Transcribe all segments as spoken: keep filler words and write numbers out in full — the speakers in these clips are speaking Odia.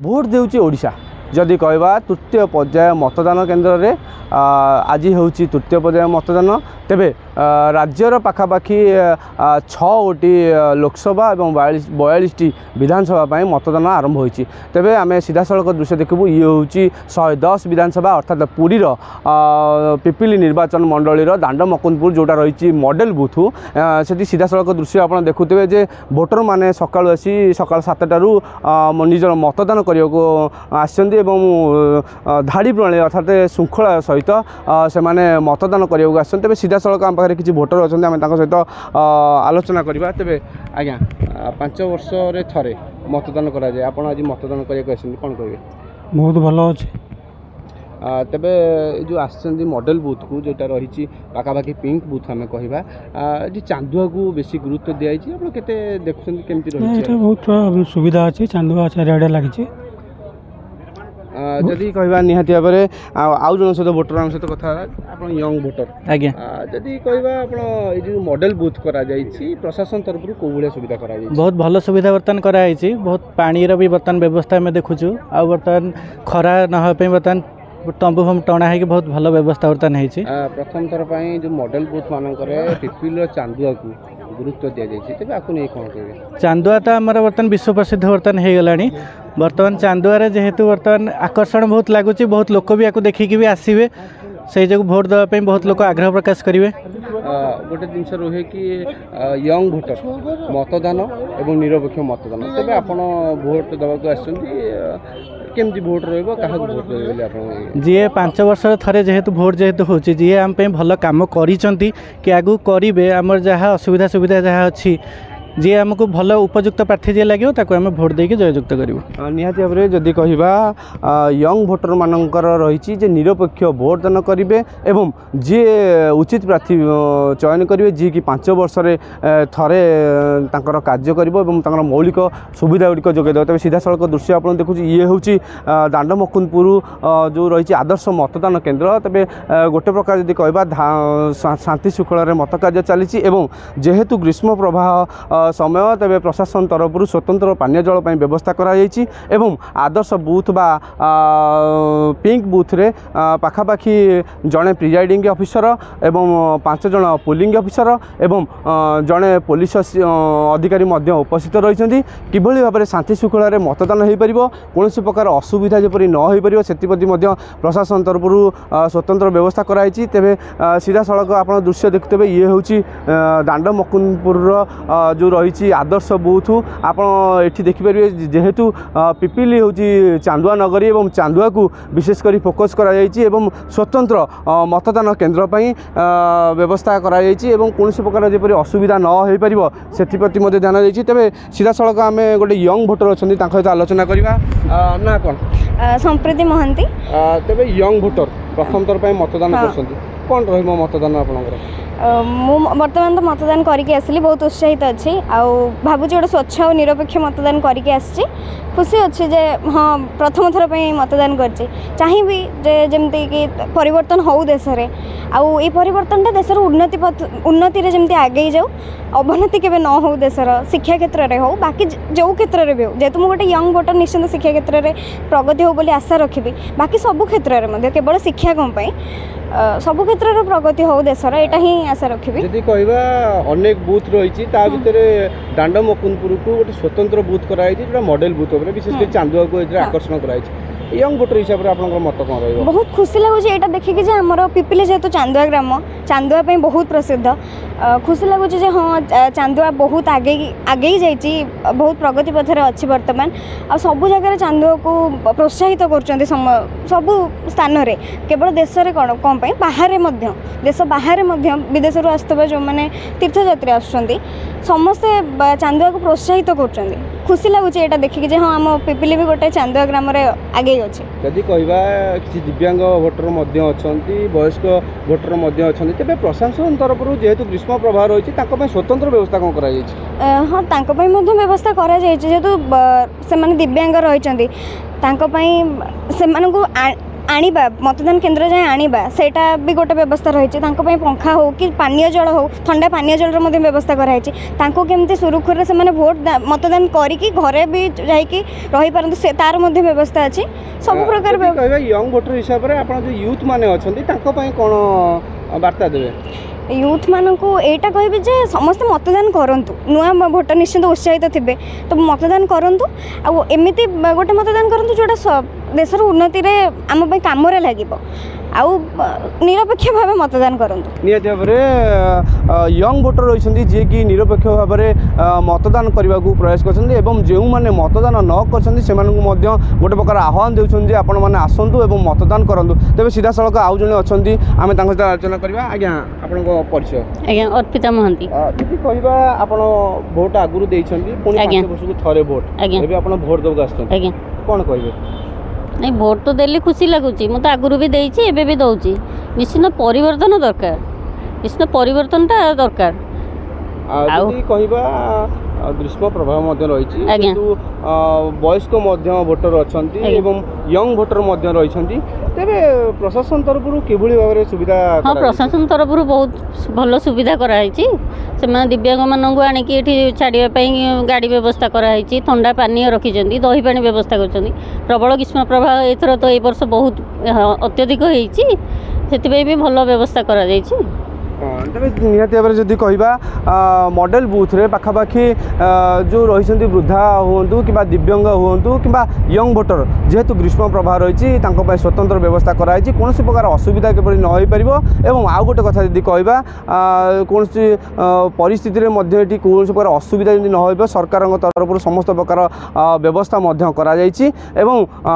ଭୋଟ ଦେଉଛି ଓଡ଼ିଶା। ଯଦି କହିବା ତୃତୀୟ ପର୍ଯ୍ୟାୟ ମତଦାନ କେନ୍ଦ୍ରରେ ଆଜି ହେଉଛି ତୃତୀୟ ପର୍ଯ୍ୟାୟ ମତଦାନ। ତେବେ ରାଜ୍ୟର ପାଖାପାଖି ଛଅ ଗୋଟି ଲୋକସଭା ଏବଂ ବୟାଳିଶ ବୟାଳିଶଟି ବିଧାନସଭା ପାଇଁ ମତଦାନ ଆରମ୍ଭ ହୋଇଛି। ତେବେ ଆମେ ସିଧାସଳଖ ଦୃଶ୍ୟ ଦେଖିବୁ, ଇଏ ହେଉଛି ଶହେ ଦଶ ବିଧାନସଭା, ଅର୍ଥାତ୍ ପୁରୀର ପିପିଲି ନିର୍ବାଚନ ମଣ୍ଡଳୀର ଦାଣ୍ଡ ମକୁନ୍ଦପୁର ଯେଉଁଟା ରହିଛି ମଡ଼େଲ ବୁଥ୍। ସେଠି ସିଧାସଳଖ ଦୃଶ୍ୟ ଆପଣ ଦେଖୁଥିବେ ଯେ ଭୋଟରମାନେ ସକାଳୁ ଆସି ସକାଳ ସାତଟାରୁ ନିଜର ମତଦାନ କରିବାକୁ ଆସିଛନ୍ତି ଏବଂ ଧାଡ଼ି ପ୍ରଣାଳୀ ଅର୍ଥାତ୍ ଶୃଙ୍ଖଳା ସହିତ ସେମାନେ ମତଦାନ କରିବାକୁ ଆସିଛନ୍ତି। ତେବେ ସିଧାସଳଖ ଆମ ପାଖରେ କିଛି ଭୋଟର ଅଛନ୍ତି, ଆମେ ତାଙ୍କ ସହିତ ଆଲୋଚନା କରିବା। ତେବେ ଆଜ୍ଞା, ପାଞ୍ଚ ବର୍ଷରେ ଥରେ ମତଦାନ କରାଯାଏ, ଆପଣ ଆଜି ମତଦାନ କରିବାକୁ ଆସିଛନ୍ତି, କ'ଣ କହିବେ? ବହୁତ ଭଲ ଅଛି। ତେବେ ଏ ଯେଉଁ ଆସିଛନ୍ତି ମଡ଼େଲ ବୁଥକୁ, ଯେଉଁଟା ରହିଛି ପାଖାପାଖି ପିଙ୍କ ବୁଥ୍ ଆମେ କହିବା, ଏଠି ଚାନ୍ଦୁଆକୁ ବେଶୀ ଗୁରୁତ୍ୱ ଦିଆଯାଇଛି, ଆପଣ କେତେ ଦେଖୁଛନ୍ତି କେମିତି ରହିଛି? ଏଠି ବହୁତ ସୁବିଧା ଅଛି, ଚାନ୍ଦୁଆ ଚାରିଆଡ଼େ ଲାଗିଛି। ଯଦି କହିବା ନିହାତି ଭାବରେ ଆଉ ଆଉ ଜଣଙ୍କ ସହିତ ଭୋଟର ଆମ ସହିତ କଥା ହେବା। ଆପଣ ୟଙ୍ଗ ଭୋଟର? ଆଜ୍ଞା। ଯଦି କହିବା ଆପଣ ଏଇ ଯେଉଁ ମଡ଼େଲ ବୁଥ୍ କରାଯାଇଛି, ପ୍ରଶାସନ ତରଫରୁ କେଉଁ ଭଳିଆ ସୁବିଧା କରାଯାଇଛି? ବହୁତ ଭଲ ସୁବିଧା ବର୍ତ୍ତମାନ କରାଯାଇଛି। ବହୁତ ପାଣିର ବି ବର୍ତ୍ତମାନ ବ୍ୟବସ୍ଥା ଆମେ ଦେଖୁଛୁ, ଆଉ ବର୍ତ୍ତମାନ ଖରା ନ ହେବା ପାଇଁ ବର୍ତ୍ତମାନ ତମ୍ବୁ ଫମ୍ବୁ ଟଣା ହେଇକି ବହୁତ ଭଲ ବ୍ୟବସ୍ଥା ବର୍ତ୍ତମାନ ହେଇଛି। ପ୍ରଥମ ଥର ପାଇଁ ଯେଉଁ ମଡ଼େଲ ବୁଥ୍ ମାନଙ୍କରେ ପିପିଲିର ଚାନ୍ଦୁଆକୁ ଗୁରୁତ୍ୱ ଦିଆଯାଇଛି, ତେବେ ଆକୁ ନେଇ କ'ଣ କହିବେ? ଚାନ୍ଦୁଆ ତ ଆମର ବର୍ତ୍ତମାନ ବିଶ୍ୱ ପ୍ରସିଦ୍ଧ ବର୍ତ୍ତମାନ ହେଇଗଲାଣି। ବର୍ତ୍ତମାନ ଚାନ୍ଦୁଆରେ ଯେହେତୁ ବର୍ତ୍ତମାନ ଆକର୍ଷଣ ବହୁତ ଲାଗୁଛି, ବହୁତ ଲୋକ ବି ୟାକୁ ଦେଖିକି ବି ଆସିବେ, ସେଇ ଯୋଗୁଁ ଭୋଟ ଦେବା ପାଇଁ ବହୁତ ଲୋକ ଆଗ୍ରହ ପ୍ରକାଶ କରିବେ। ଗୋଟେ ଜିନିଷ ରୁହେ କି ୟଙ୍ଗ ଭୋଟର ମତଦାନ ଏବଂ ନିରପେକ୍ଷ ମତଦାନ। ତେବେ ଆପଣ ଭୋଟ ଦେବାକୁ ଆସିଛନ୍ତି, କେମିତି ଭୋଟ ରହିବ, କାହାକୁ ଭୋଟ ଦେବେ ବୋଲି ଆପଣ? ଯିଏ ପାଞ୍ଚ ବର୍ଷରେ ଥରେ ଯେହେତୁ ଭୋଟ ଯେହେତୁ ହେଉଛି, ଯିଏ ଆମ ପାଇଁ ଭଲ କାମ କରିଛନ୍ତି କି ଆଗକୁ କରିବେ, ଆମର ଯାହା ଅସୁବିଧା ସୁବିଧା ଯାହା ଅଛି, ଯିଏ ଆମକୁ ଭଲ ଉପଯୁକ୍ତ ପ୍ରାର୍ଥୀ ଯିଏ ଲାଗିବ ତାକୁ ଆମେ ଭୋଟ ଦେଇକି ଜୟଯୁକ୍ତ କରିବୁ। ନିହାତି ଭାବରେ ଯଦି କହିବା ୟଙ୍ଗ ଭୋଟରମାନଙ୍କର ରହିଛି ଯେ ନିରପେକ୍ଷ ଭୋଟ ଦାନ କରିବେ ଏବଂ ଯିଏ ଉଚିତ ପ୍ରାର୍ଥୀ ଚୟନ କରିବେ, ଯିଏକି ପାଞ୍ଚ ବର୍ଷରେ ଥରେ ତାଙ୍କର କାର୍ଯ୍ୟ କରିବ ଏବଂ ତାଙ୍କର ମୌଳିକ ସୁବିଧା ଗୁଡ଼ିକ ଯୋଗାଇ ଦେବ। ତେବେ ସିଧାସଳଖ ଦୃଶ୍ୟ ଆପଣ ଦେଖୁଛି, ଇଏ ହେଉଛି ଦାଣ୍ଡ ମକୁନ୍ଦପୁର ଯେଉଁ ରହିଛି ଆଦର୍ଶ ମତଦାନ କେନ୍ଦ୍ର। ତେବେ ଗୋଟେ ପ୍ରକାର ଯଦି କହିବା ଶାନ୍ତି ଶୃଙ୍ଖଳାରେ ମତ କାର୍ଯ୍ୟ ଚାଲିଛି ଏବଂ ଯେହେତୁ ଗ୍ରୀଷ୍ମ ପ୍ରବାହ ସମୟ, ତେବେ ପ୍ରଶାସନ ତରଫରୁ ସ୍ୱତନ୍ତ୍ର ପାନୀୟ ଜଳ ପାଇଁ ବ୍ୟବସ୍ଥା କରାଯାଇଛି ଏବଂ ଆଦର୍ଶ ବୁଥ୍ ବା ପିଙ୍କ ବୁଥ୍ରେ ପାଖାପାଖି ଜଣେ ପ୍ରିଜାଇଡ଼ିଂ ଅଫିସର ଏବଂ ପାଞ୍ଚ ଜଣ ପୋଲିଂ ଅଫିସର ଏବଂ ଜଣେ ପୋଲିସ ଅଧିକାରୀ ମଧ୍ୟ ଉପସ୍ଥିତ ରହିଛନ୍ତି। କିଭଳି ଭାବରେ ଶାନ୍ତି ଶୃଙ୍ଖଳାରେ ମତଦାନ ହୋଇପାରିବ, କୌଣସି ପ୍ରକାର ଅସୁବିଧା ଯେପରି ନ ହୋଇପାରିବ, ସେଥିପ୍ରତି ମଧ୍ୟ ପ୍ରଶାସନ ତରଫରୁ ସ୍ୱତନ୍ତ୍ର ବ୍ୟବସ୍ଥା କରାଯାଇଛି। ତେବେ ସିଧାସଳଖ ଆପଣ ଦୃଶ୍ୟ ଦେଖୁଥିବେ, ଇଏ ହେଉଛି ଦାଣ୍ଡ ମକୁନ୍ଦପୁରର ଯେଉଁ ରହିଛି ଆଦର୍ଶ ବୁଥ୍। ଆପଣ ଏଠି ଦେଖିପାରିବେ, ଯେହେତୁ ପିପିଲି ହେଉଛି ଚାନ୍ଦୁଆ ନଗରୀ ଏବଂ ଚାନ୍ଦୁଆକୁ ବିଶେଷ କରି ଫୋକସ୍ କରାଯାଇଛି ଏବଂ ସ୍ୱତନ୍ତ୍ର ମତଦାନ କେନ୍ଦ୍ର ପାଇଁ ବ୍ୟବସ୍ଥା କରାଯାଇଛି ଏବଂ କୌଣସି ପ୍ରକାର ଯେପରି ଅସୁବିଧା ନ ହୋଇପାରିବ ସେଥିପ୍ରତି ମଧ୍ୟ ଧ୍ୟାନ ଦେଇଛି। ତେବେ ସିଧାସଳଖ ଆମେ ଗୋଟେ ୟଙ୍ଗ ଭୋଟର ଅଛନ୍ତି, ତାଙ୍କ ସହିତ ଆଲୋଚନା କରିବା। ନା କ'ଣ? ସମ୍ପ୍ରୀତି ମହାନ୍ତି। ତେବେ ୟଙ୍ଗ ଭୋଟର ପ୍ରଥମ ଥର ପାଇଁ ମତଦାନ କରୁଛନ୍ତି, କ'ଣ ରହିବ ମତଦାନ ଆପଣଙ୍କର? ମୁଁ ବର୍ତ୍ତମାନ ତ ମତଦାନ କରିକି ଆସିଲି, ବହୁତ ଉତ୍ସାହିତ ଅଛି ଆଉ ଭାବୁଛି ଗୋଟେ ସ୍ୱଚ୍ଛ ଆଉ ନିରପେକ୍ଷ ମତଦାନ କରିକି ଆସିଛି। ଖୁସି ଅଛି ଯେ ହଁ ପ୍ରଥମ ଥର ପାଇଁ ମତଦାନ କରିଛି। ଚାହିଁବି ଯେ ଯେମିତିକି ପରିବର୍ତ୍ତନ ହେଉ ଦେଶରେ, ଆଉ ଏଇ ପରିବର୍ତ୍ତନଟା ଦେଶର ଉନ୍ନତି ପଥ ଉନ୍ନତିରେ ଯେମିତି ଆଗେଇ ଯାଉ, ଅବନତି କେବେ ନ ହେଉ ଦେଶର, ଶିକ୍ଷା କ୍ଷେତ୍ରରେ ହେଉ ବାକି ଯେଉଁ କ୍ଷେତ୍ରରେ ବି ହେଉ। ଯେହେତୁ ମୁଁ ଗୋଟେ ୟଙ୍ଗ ଭୋଟର, ନିଶ୍ଚିନ୍ତ ଶିକ୍ଷା କ୍ଷେତ୍ରରେ ପ୍ରଗତି ହେଉ ବୋଲି ଆଶା ରଖିବି, ବାକି ସବୁ କ୍ଷେତ୍ରରେ ମଧ୍ୟ, କେବଳ ଶିକ୍ଷା କ'ଣ ପାଇଁ, ସବୁ କ୍ଷେତ୍ରରେ ପ୍ରଗତି ହେଉ ଦେଶର, ଏଇଟା ହିଁ ଆଶା ରଖିବି। ଯଦି କହିବା ଅନେକ ବୁଥ୍ ରହିଛି, ତା ଭିତରେ ଦାଣ୍ଡ ମକୁନ୍ଦପୁରକୁ ଗୋଟେ ସ୍ୱତନ୍ତ୍ର ବୁଥ୍ କରାଯାଇଛି ଯେଉଁଟା ମଡ଼େଲ ବୁଥ୍ ଉପରେ, ବିଶେଷ କରି ଚାନ୍ଦୁଆକୁ ଏଥିରେ ଆକର୍ଷଣ କରାଯାଇଛି। ୟଙ୍ଗ ଭୋଟର ହିସାବରେ ଆପଣଙ୍କର ମତ କ'ଣ ରହିବ? ବହୁତ ଖୁସି ଲାଗୁଛି ଏଇଟା ଦେଖିକି ଯେ ଆମର ପିପିଲି ଯେହେତୁ ଚାନ୍ଦୁଆ ଗ୍ରାମ, ଚାନ୍ଦୁଆ ପାଇଁ ବହୁତ ପ୍ରସିଦ୍ଧ। ଖୁସି ଲାଗୁଛି ଯେ ହଁ ଚାନ୍ଦୁଆ ବହୁତ ଆଗେଇ ଆଗେଇ ଯାଇଛି, ବହୁତ ପ୍ରଗତି ପଥରେ ଅଛି ବର୍ତ୍ତମାନ, ଆଉ ସବୁ ଜାଗାରେ ଚାନ୍ଦୁଆକୁ ପ୍ରୋତ୍ସାହିତ କରୁଛନ୍ତି ସବୁ ସ୍ଥାନରେ, କେବଳ ଦେଶରେ କ'ଣ କ'ଣ ପାଇଁ ବାହାରେ ମଧ୍ୟ, ଦେଶ ବାହାରେ ମଧ୍ୟ ବିଦେଶରୁ ଆସୁଥିବା ଯେଉଁମାନେ ତୀର୍ଥଯାତ୍ରୀ ଆସୁଛନ୍ତି, ସମସ୍ତେ ଚାନ୍ଦୁଆକୁ ପ୍ରୋତ୍ସାହିତ କରୁଛନ୍ତି। ଖୁସି ଲାଗୁଛି ଏଇଟା ଦେଖିକି ଯେ ହଁ ଆମ ପିପିଲି ବି ଗୋଟେ ଚାନ୍ଦୁଆ ଗ୍ରାମରେ ଆଗେଇ ଅଛି। ଯଦି କହିବା କିଛି ଦିବ୍ୟାଙ୍ଗ ଭୋଟର ମଧ୍ୟ ଅଛନ୍ତି, ବୟସ୍କ ଭୋଟର ମଧ୍ୟ ଅଛନ୍ତି, ତେବେ ପ୍ରଶାସନ ତରଫରୁ ଯେହେତୁ ଗ୍ରୀଷ୍ମ ପ୍ରବାହ ରହିଛି ତାଙ୍କ ପାଇଁ ସ୍ୱତନ୍ତ୍ର ବ୍ୟବସ୍ଥା କ'ଣ କରାଯାଇଛି? ହଁ, ତାଙ୍କ ପାଇଁ ମଧ୍ୟ ବ୍ୟବସ୍ଥା କରାଯାଇଛି। ଯେହେତୁ ସେମାନେ ଦିବ୍ୟାଙ୍ଗ ରହିଛନ୍ତି, ତାଙ୍କ ପାଇଁ ସେମାନଙ୍କୁ ଆଣିବା ମତଦାନ କେନ୍ଦ୍ର ଯାଏଁ ଆଣିବା ସେଇଟା ବି ଗୋଟେ ବ୍ୟବସ୍ଥା ରହିଛି ତାଙ୍କ ପାଇଁ ପଙ୍ଖା ହେଉ କି ପାନୀୟ ଜଳ ହେଉ ଥଣ୍ଡା ପାନୀୟ ଜଳର ମଧ୍ୟ ବ୍ୟବସ୍ଥା କରାହେଇଛି ତାଙ୍କୁ କେମିତି ସୁରୁଖୁରୁରେ ସେମାନେ ଭୋଟ ମତଦାନ କରିକି ଘରେ ବି ଯାଇକି ରହିପାରନ୍ତୁ ସେ ତାର ମଧ୍ୟ ବ୍ୟବସ୍ଥା ଅଛି ସବୁ ପ୍ରକାର ଯଦି କହିବା ୟଙ୍ଗ ଭୋଟର ହିସାବରେ ଆପଣ ଯେଉଁ ୟୁଥ୍ ମାନେ ଅଛନ୍ତି ତାଙ୍କ ପାଇଁ କ'ଣ ବାର୍ତ୍ତା ଦେବେ ୟୁଥ୍ ମାନଙ୍କୁ ଏଇଟା କହିବି ଯେ ସମସ୍ତେ ମତଦାନ କରନ୍ତୁ ନୂଆ ଭୋଟର ନିଶ୍ଚିନ୍ତ ଉତ୍ସାହିତ ଥିବେ ତ ମତଦାନ କରନ୍ତୁ ଆଉ ଏମିତି ଗୋଟେ ମତଦାନ କରନ୍ତୁ ଯେଉଁଟା ଦେଶର ଉନ୍ନତିରେ ଆମ ପାଇଁ କାମରେ ଲାଗିବ ଆଉ ନିରପେକ୍ଷ ଭାବେ ମତଦାନ କରନ୍ତୁ ନିହାତି ଭାବରେ ୟଙ୍ଗ ଭୋଟର ରହିଛନ୍ତି ଯିଏକି ନିରପେକ୍ଷ ଭାବରେ ମତଦାନ କରିବାକୁ ପ୍ରୟାସ କରିଛନ୍ତି ଏବଂ ଯେଉଁମାନେ ମତଦାନ ନ କରିଛନ୍ତି ସେମାନଙ୍କୁ ମଧ୍ୟ ଗୋଟେ ପ୍ରକାର ଆହ୍ୱାନ ଦେଉଛନ୍ତି ଯେ ଆପଣମାନେ ଆସନ୍ତୁ ଏବଂ ମତଦାନ କରନ୍ତୁ ତେବେ ସିଧାସଳଖ ଆଉ ଜଣେ ଅଛନ୍ତି ଆମେ ତାଙ୍କ ସହିତ ଆଲୋଚନା କରିବା ଆଜ୍ଞା ଆପଣଙ୍କ ପରିଚୟ ଆଜ୍ଞା ଅର୍ପିତା ମହାନ୍ତି ଯଦି କହିବା ଆପଣ ଭୋଟ ଆଗରୁ ଦେଇଛନ୍ତି ପୁଣି ଆଜ୍ଞା। ପାଞ୍ଚ ବର୍ଷକୁ ଥରେ ଭୋଟ ଆଜ୍ଞା। ଏବେ ଆପଣ ଭୋଟ ଦେବାକୁ ଆସିଛନ୍ତି ଆଜ୍ଞା କ'ଣ କହିବେ ନାଇଁ ଭୋଟ ତ ଦେଲି ଖୁସି ଲାଗୁଛି ମୁଁ ତ ଆଗରୁ ବି ଦେଇଛି ଏବେ ବି ଦେଉଛି ନିଶ୍ଚିନ୍ତ ପରିବର୍ତ୍ତନ ଦରକାର ନିଶ୍ଚିନ୍ତ ପରିବର୍ତ୍ତନଟା ଦରକାର ଆଉ ଆଉ- ଯଦି କହିବା ଆ, ଗ୍ରୀଷ୍ମ ପ୍ରବାହ ମଧ୍ୟ ରହିଛି ଆଜ୍ଞା। କିନ୍ତୁ ଆ, ବୟସ୍କ ମଧ୍ୟ ଭୋଟର ଅଛନ୍ତି ଆଜ୍ଞା। ଏବଂ ୟଙ୍ଗ ଭୋଟର ମଧ୍ୟ ରହିଛନ୍ତି ତେବେ ପ୍ରଶାସନ ତରଫରୁ କିଭଳି ଭାବରେ ସୁବିଧା ହଁ କରାଯାଇଛି? ପ୍ରଶାସନ ତରଫରୁ ବହୁତ ଭଲ ସୁବିଧା କରାହେଇଛି ସେମାନେ ଦିବ୍ୟାଙ୍ଗମାନଙ୍କୁ ଆଣିକି ଏଠି ଛାଡ଼ିବା ପାଇଁ ଗାଡ଼ି ବ୍ୟବସ୍ଥା କରାହେଇଛି ଥଣ୍ଡା ପାନୀୟ ରଖିଛନ୍ତି ଦହି ପାଣି ବ୍ୟବସ୍ଥା କରିଛନ୍ତି ପ୍ରବଳ ଗ୍ରୀଷ୍ମ ପ୍ରବାହ ଏଥର ତ ଏଇ ବର୍ଷ ବହୁତ ହଁ, ଅତ୍ୟଧିକ ହେଇଛି ସେଥିପାଇଁ ବି ଭଲ ବ୍ୟବସ୍ଥା କରାଯାଇଛି ହଁ, ତେବେ ନିହାତି ଭାବରେ ଯଦି କହିବା ଆ, ମଡେଲ ବୁଥରେ ପାଖାପାଖି ଆ, ଯେଉଁ ରହିଛନ୍ତି ବୃଦ୍ଧା ହୁଅନ୍ତୁ କିମ୍ବା ଦିବ୍ୟାଙ୍ଗ ହୁଅନ୍ତୁ କିମ୍ବା ୟଙ୍ଗ ଭୋଟର ଯେହେତୁ ଗ୍ରୀଷ୍ମ ପ୍ରବାହ ରହିଛି ତାଙ୍କ ପାଇଁ ସ୍ୱତନ୍ତ୍ର ବ୍ୟବସ୍ଥା କରାଯାଇଛି କୌଣସି ପ୍ରକାର ଅସୁବିଧା କିପରି ନ ହୋଇପାରିବ ଏବଂ ଆଉ ଗୋଟେ କଥା ଯଦି କହିବା ଆ, କୌଣସି ଆ, ପରିସ୍ଥିତିରେ ମଧ୍ୟ ଏଠି କୌଣସି ପ୍ରକାର ଅସୁବିଧା ଯେମିତି ନ ହେବ ସରକାରଙ୍କ ତରଫରୁ ସମସ୍ତ ପ୍ରକାର ଆ, ବ୍ୟବସ୍ଥା ମଧ୍ୟ କରାଯାଇଛି ଏବଂ ଆ,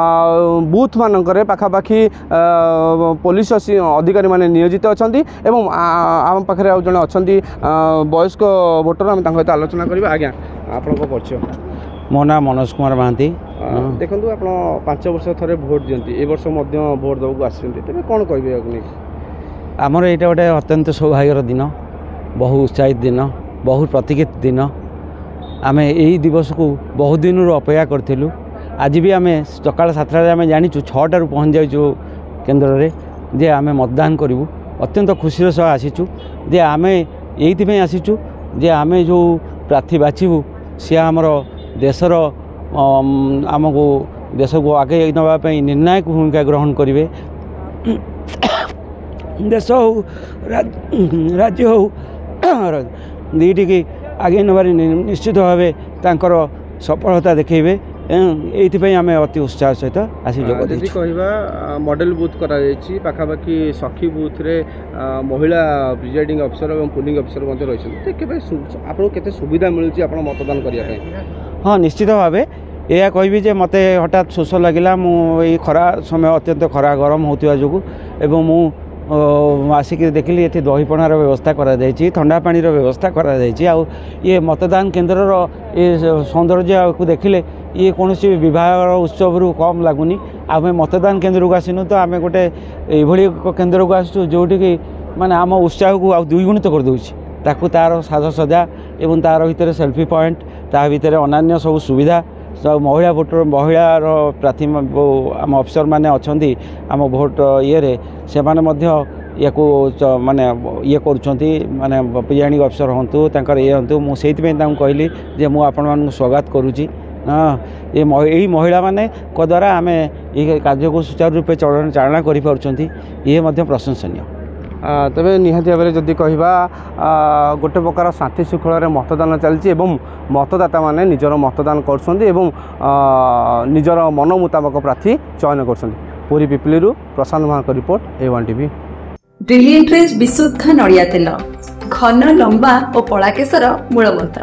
ବୁଥ୍ ମାନଙ୍କରେ ପାଖାପାଖି ଆ, ପୋଲିସ ଆସି- ଅଧିକାରୀମାନେ ନିୟୋଜିତ ଅଛନ୍ତି ଏବଂ ଆ- ଆମ ପାଖରେ ଆଉ ଜଣେ ଅଛନ୍ତି ଆ, ବୟସ୍କ ଭୋଟର ଆମେ ତାଙ୍କ ସହିତ ଆଲୋଚନା କରିବା ଆଜ୍ଞା ଆପଣଙ୍କ ପରିଚୟ ମୋ ନାଁ ମନୋଜ କୁମାର ମହାନ୍ତି ଆ, ଦେଖନ୍ତୁ ଆପଣ ପାଞ୍ଚ ବର୍ଷ ଥରେ ଭୋଟ ଦିଅନ୍ତି ଏ ବର୍ଷ ମଧ୍ୟ ଭୋଟ ଦେବାକୁ ଆସିଛନ୍ତି ତେବେ କ'ଣ କହିବେ ଏହାକୁ ନେଇକି ଆମର ଏଇଟା ଗୋଟେ ଅତ୍ୟନ୍ତ ସୌଭାଗ୍ୟର ଦିନ ବହୁ ଉତ୍ସାହିତ ଦିନ ବହୁ ପ୍ରତୀକ୍ଷିତ ଦିନ ଆମେ ଏଇ ଦିବସକୁ ବହୁତ ଦିନରୁ ଅପେକ୍ଷା କରିଥିଲୁ ଆଜି ବି ଆମେ ସକାଳ ସାତଟାରେ ଆମେ ଜାଣିଛୁ ଛଅଟାରୁ ପହଞ୍ଚି ଯାଇଛୁ କେନ୍ଦ୍ରରେ ଯେ ଆମେ ମତଦାନ କରିବୁ ଅତ୍ୟନ୍ତ ଖୁସିର ସହ ଆସିଛୁ ଯେ ଆମେ ଏଇଥିପାଇଁ ଆସିଛୁ ଯେ ଆମେ ଯେଉଁ ପ୍ରାର୍ଥୀ ବାଛିବୁ ସିଏ ଆମର ଦେଶର ଅମ୍, ଆମକୁ ଦେଶକୁ ଆଗେଇ ନେବା ପାଇଁ ନିର୍ଣ୍ଣାୟକ ଭୂମିକା ଗ୍ରହଣ କରିବେ ଦେଶ ହଉ ରାଜ୍ୟ ହଉ ଦୁଇଟିକି ଆଗେଇ ନେବାରେ ନି- ନିଶ୍ଚିତ ଭାବେ ତାଙ୍କର ସଫଳତା ଦେଖେଇବେ ଏଁ, ଏଇଥିପାଇଁ ଆମେ ଅତି ଉତ୍ସାହ ସହିତ ଆସି ଯୋଗ ଯଦି ଦେଇଛୁ କହିବା ମଡେଲ ବୁଥ୍ କରାଯାଇଛି ପାଖାପାଖି ସଖୀ ବୁଥରେ ଆ, ମହିଳା ପ୍ରିଜାଇଡ଼ିଂ ଅଫିସର ଏବଂ ପୋଲିଂ ଅଫିସର ମଧ୍ୟ ରହିଛନ୍ତି ତ କେବେ ସୁ- ଆପଣଙ୍କୁ କେତେ ସୁବିଧା ମିଳୁଛି ଆପଣ ମତଦାନ କରିବା ପାଇଁ ହଁ ନିଶ୍ଚିତ ଭାବେ ଏହା କହିବି ଯେ ମୋତେ ହଠାତ୍ ଶୋଷ ଲାଗିଲା ମୁଁ ଏଇ ଖରା ସମୟ ଅତ୍ୟନ୍ତ ଖରା ଗରମ ହେଉଥିବା ଯୋଗୁଁ ଏବଂ ମୁଁ ଅ, ଆସିକି ଦେଖିଲି ଏଠି ଦହିପଣାର ବ୍ୟବସ୍ଥା କରାଯାଇଛି ଥଣ୍ଡା ପାଣିର ବ୍ୟବସ୍ଥା କରାଯାଇଛି ଆଉ ଇଏ ମତଦାନ କେନ୍ଦ୍ରର ଏ ସୌନ୍ଦର୍ଯ୍ୟକୁ ଦେଖିଲେ ଇଏ କୌଣସି ବିବାହର ଉତ୍ସବରୁ କମ୍ ଲାଗୁନି ଆମେ ମତଦାନ କେନ୍ଦ୍ରକୁ ଆସିନୁ ତ ଆମେ ଗୋଟେ ଏଇଭଳି ଏକ କେନ୍ଦ୍ରକୁ ଆସିଛୁ ଯେଉଁଠିକି ମାନେ ଆମ ଉତ୍ସାହକୁ ଆଉ ଦ୍ୱିଗୁଣିତ କରିଦେଉଛି ତାକୁ ତା'ର ସାଜସଜ୍ଜା ଏବଂ ତା'ର ଭିତରେ ସେଲ୍ଫି ପଏଣ୍ଟ ତା ଭିତରେ ଅନ୍ୟାନ୍ୟ ସବୁ ସୁବିଧା ସବୁ ମହିଳା ଭୋଟର ମହିଳାର ପ୍ରାର୍ଥୀ ମ- ଆମ ଅଫିସରମାନେ ଅଛନ୍ତି ଆମ ଭୋଟ ଇଏରେ ସେମାନେ ମଧ୍ୟ ୟାକୁ ଚ- ମାନେ ଇଏ କରୁଛନ୍ତି ମାନେ ପ୍ରିଜାଇଡ଼ିଂ ଅଫିସର ହୁଅନ୍ତୁ ତାଙ୍କର ଇଏ ହୁଅନ୍ତୁ ମୁଁ ସେଇଥିପାଇଁ ତାଙ୍କୁ କହିଲି ଯେ ମୁଁ ଆପଣମାନଙ୍କୁ ସ୍ୱାଗତ କରୁଛି ହଁ ଏ ମହି- ଏଇ ମହିଳାମାନଙ୍କ ଦ୍ୱାରା ଆମେ ଏଇ କାର୍ଯ୍ୟକୁ ସୁଚାରୁ ରୂପେ ଚଳନ ଚାଳନା କରିପାରୁଛନ୍ତି ଇଏ ମଧ୍ୟ ପ୍ରଶଂସନୀୟ ଆ, ତେବେ ନିହାତି ଭାବରେ ଯଦି କହିବା ଆ, ଗୋଟେ ପ୍ରକାର ଶାନ୍ତି ଶୃଙ୍ଖଳାରେ ମତଦାନ ଚାଲିଛି ଏବଂ ମତଦାତାମାନେ ନିଜର ମତଦାନ କରୁଛନ୍ତି ଏବଂ ଆ, ନିଜର ମନ ମୁତାବକ ପ୍ରାର୍ଥୀ ଚୟନ କରୁଛନ୍ତି ପୁରୀ ପିପିଲିରୁ ପ୍ରଶାନ୍ତ ମହାଙ୍କ ରିପୋର୍ଟ ଏ ୱାନ୍ ଟିଭି ବ୍ରିଲିଏଣ୍ଟରେ ବିଶୁଦ୍ଧ ନଡ଼ିଆ ତେଲ ଘନ ଲମ୍ବା ଓ କଳା କେଶର ମୂଳ ମନ୍ତ୍ର